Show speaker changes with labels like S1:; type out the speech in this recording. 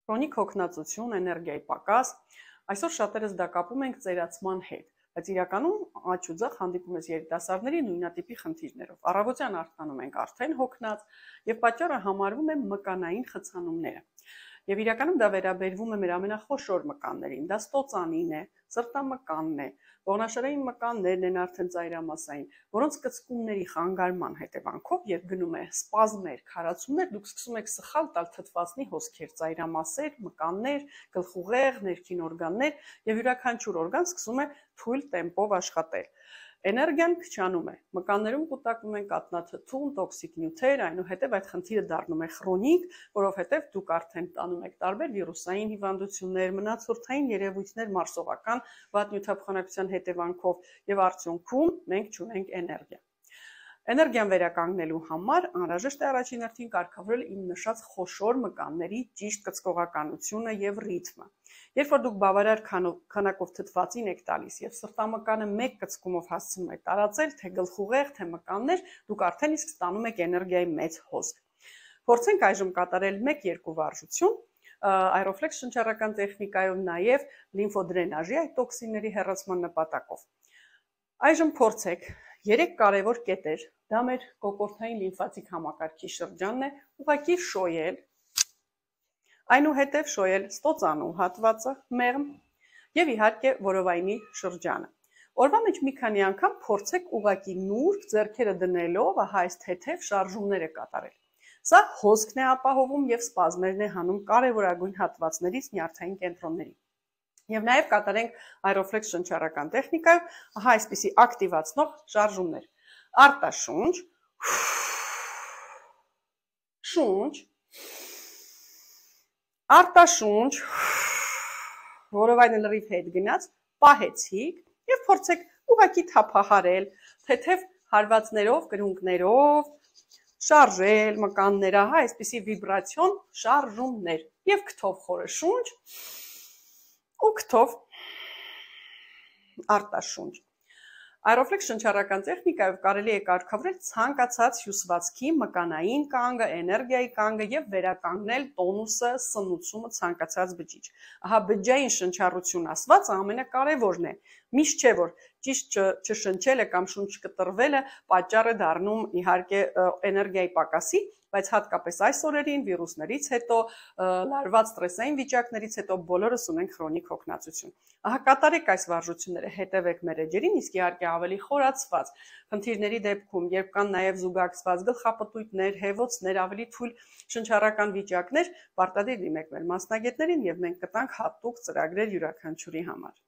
S1: Քրոնիկ հոգնածություն, էներգիայի պակաս, այսօր շատերս դա կապում ենք ծերացման հետ, բայց իրականում աջ ու ձախ հանդիպում ես երիտասարդների նույնատիպի խնդիրներով։ Առավոտյան արթնանում ենք արդեն հոգնած եւ պատճառը համարվում է մկանային խցանումները։ Եվ իրականում դա վերաբերվում է մեր ամենախոշոր մկաններին, դա ստոծանին է, սրտամկանն է, ողնաշարային մկաններն են արդեն ծայրամասային, որոնց կծկումների խանգարման հետևանքով, երբ գնում է սպազմեր, քարացումներ, դուք սկսում եք սխալ տալ թթվածնի հոսքեր, ծայրամասեր, մկաններ, գլխուղեղ, ներքին օրգաններ եւ յուրաքանչյուր օրգան սկսում է թույլ տեմպով աշխատել։ Էներգիան քչանում է, մկաններում կուտակվում են կաթնաթթուն, տոքսիկ նյութեր, այնուհետև այդ խնդիրը դառնում է քրոնիկ, որովհետև դուք արդեն տանում եք տարբեր վիրուսային հիվանդություններ, մնացորդային երևույթներ մարսողական վատ նյութափոխանակության հետևանքով եւ արդյունքում մենք չունենք էներգիա։ Էներգիան վերականգնելու համար անհրաժեշտ է առաջին հերթին կարգավորել իմ նշած խոշոր մկանների ճիշտ կծկողականությունը եւ ռիթմը։ Երբ որ դուք բավարար քանակով թթվածին եք տալիս եւ սրտամկանը մեկ կծկումով հասցնում եք տարածել, թե գլխուղեղ, թե մկաններ, դուք արդեն իսկ ստանում եք էներգիայի մեծ հոսք։ Փորձենք այժմ կատարել 1-2 վարժություն Aeroflex շնչառական տեխնիկայով նաեւ լիմֆոդրենաժի այդ տոքսինների հեռացման նպատակով։ Այժմ փորձեք 3 կարևոր կետեր, դա մեր կոկորդային լիմֆատիկ համակարգի շրջանն է, ուղղակի շոյել, այնուհետև շոյել ստոծանու հատվածը, մեղմ եւ իհարկե որովայնի շրջանը։ Օրվա մեջ մի քանի անգամ փորձեք ուղղակի նուրբ ձեռքերը դնելով, ահա այս թեթև շարժումները կատարել։ Սա հոսքն է ապահովում եւ սպազմերն է հանում կարևորագույն հատվածներից նյարդային կենտրոնների։ Եվ նաև կատարենք Aeroflex շնչառական տեխնիկայով, ահա այսպիսի ակտիվացնող շարժումներ։ Արտաշունչ, շունչ, արտաշունչ, որովայնը լրիվ հետ գնաց, պահեցիք եւ փորձեք ուղղակի թափահարել, թեթև հարվածներով, կրունկներով, շարժել մկանները, ահա այսպիսի վիբրացիոն շարժումներ եւ քթով խորը շունչ ու քթով արտաշունչ։ Aeroflex շնչառական տեխնիկայով կարելի է կարգավորել ցանկացած հյուսվածքի մկանային կանգը, էներգիայի կանգը եւ վերականգնել տոնուսը, սնուցումը ցանկացած բջիջ։ Ահա բջջային շնչառություն ասված ամենակարևորն է։ Միշտ չէ որ ճիշտ չշնչելը կամ շունչ կտրվելը պատճառ է դառնում իհարկե էներգիայի պակասի, բայց հատկապես այս օրերին վիրուսներից հետո, լարված ստրեսային վիճակներից հետո բոլորս ունենք քրոնիկ հոգնածություն։ Ահա կատարեք այս վարժությունները, հետևեք մեր էջերին, իսկ իհարկե ավելի խորացված խնդիրների դեպքում, երբ կան նաև զուգակցված գլխապտույտներ, հեվոցներ, ավելի թույլ շնչառական վիճակներ, պարտադիր դիմեք մեր մասնագետներին եւ մենք կտանք հատուկ ծրագրեր յուրաքանչյուրի համար։